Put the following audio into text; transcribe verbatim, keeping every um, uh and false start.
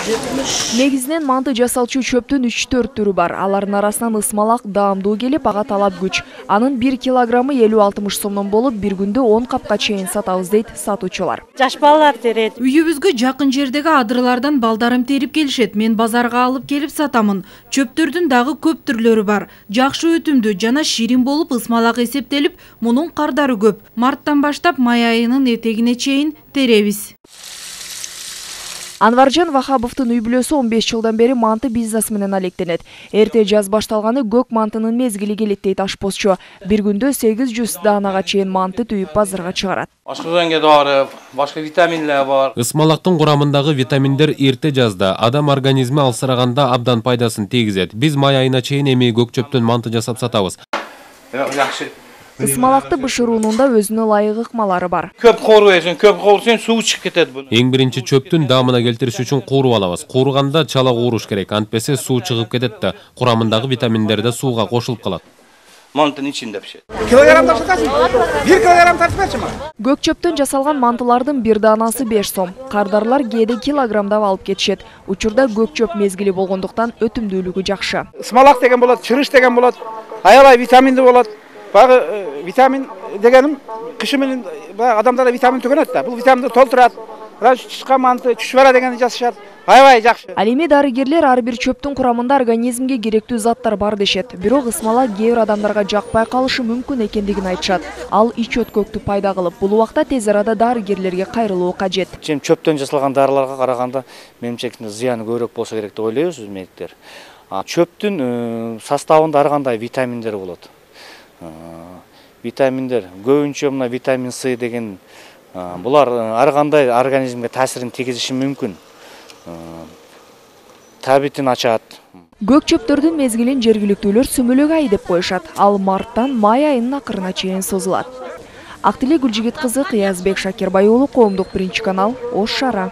Негизинен манты жасалчу чөптүн үч төрт түрү бар. Алардын арасынан ысмалак даамдуу келип, ага талап күч. Анын бир килограммы элүү алтымыш сомдон болуп, бир күндө он капка чейин сатабыз дейт сатуучулар. Жаш балалар терет. Үйүбүзгө жакын жердеги адырлардан балдарым терип келишет. Мен базарга алып келип сатамын. Чөптөрдүн дагы көп түрлөрү бар. Жакшы өтүмдүү жана ширин болуп, ысмалак эсептелип, мунун кардары көп. Марттан баштап май айынын этегине чейин теребиз. Анваржан Вахабовдун үй бүлөсү он беш жылдан бери манты бизнес менен алектенет. Эрте жаз башталганы көк мантынын мезгили келет дейт ашпозчу. Бир күндө сегиз жүз даанага чейин манты түйүп базарга чыгарат. Ашкызганга дары, башка витаминлер бар. Ысмалактын курамындагы витаминдер эрте жазда адам организми алсыраганда абдан пайдасын тийгизет. Биз май айына чейин эми көк чөптөн манты жасап сатабыз. Жакшы. Ысмалакты бышыруунун да өзүнө ылайык ыкмалары бар. Көп кооруйсуң, көп кооруйсуң, суу чыгып кетет бул. Эң биринчи чөптүн даамына келтириш үчүн кууруп алабыз. Кууруганда чала кууруш керек, антпесе суу чыгып кетет да, курамындагы витаминдер да сууга кошулуп калат. Мантын ичинде пишет. Килограмм тартасың? бир килограмм тартып берчима? Көк чөптөн жасалган мантылардын бир даанасы беш сом. Кардарлар кээде килограммдап алып кетишет. Учурда көк чөп мезгили болгондуктан өтүмдүүлүгү жакшы. Ысмалак деген болот, чырыш деген болот, аябай витаминдүү болот. Багы витамин дегеним кышы менен адамдарда витамин түгөнөт да. Бул витаминди толтурат. Чычкан манты, чүчвара дегенди жасашат. Аябай жакшы. Ал эми дарыгерлер ар бир чөптүн курамында организмге керектүү заттар бар дешет. Бирок ысмалак кээ бир адамдарга жакпай калышы мүмкүн экендигин айтышат. Ал ич өткөктү пайда кылып, бул убакта тез арада дарыгерлерге кайрылуу кажет. Чем чөптөн жасалган дарыларга караганда менимче зыяны көбүрөөк болсо керек деп ойлойбуз биз медиктер. Чөптүн составында ар кандай витаминдер болот. Витаминдер көбүнчө мына витамин С деген булар ар кандай организмге таасирин тийгизиши мүмкүн. Табитин ачат. Көк чөптөрдүн мезгилин жергиликтүүлөр сүмөлөк ай деп коюшат. Ал марттан май айынын акырына чейин созулат. Актилек Гүлжигит кызы, Кыязбек Шакирбай уулу, Коомдук биринчи канал, Ош шаара.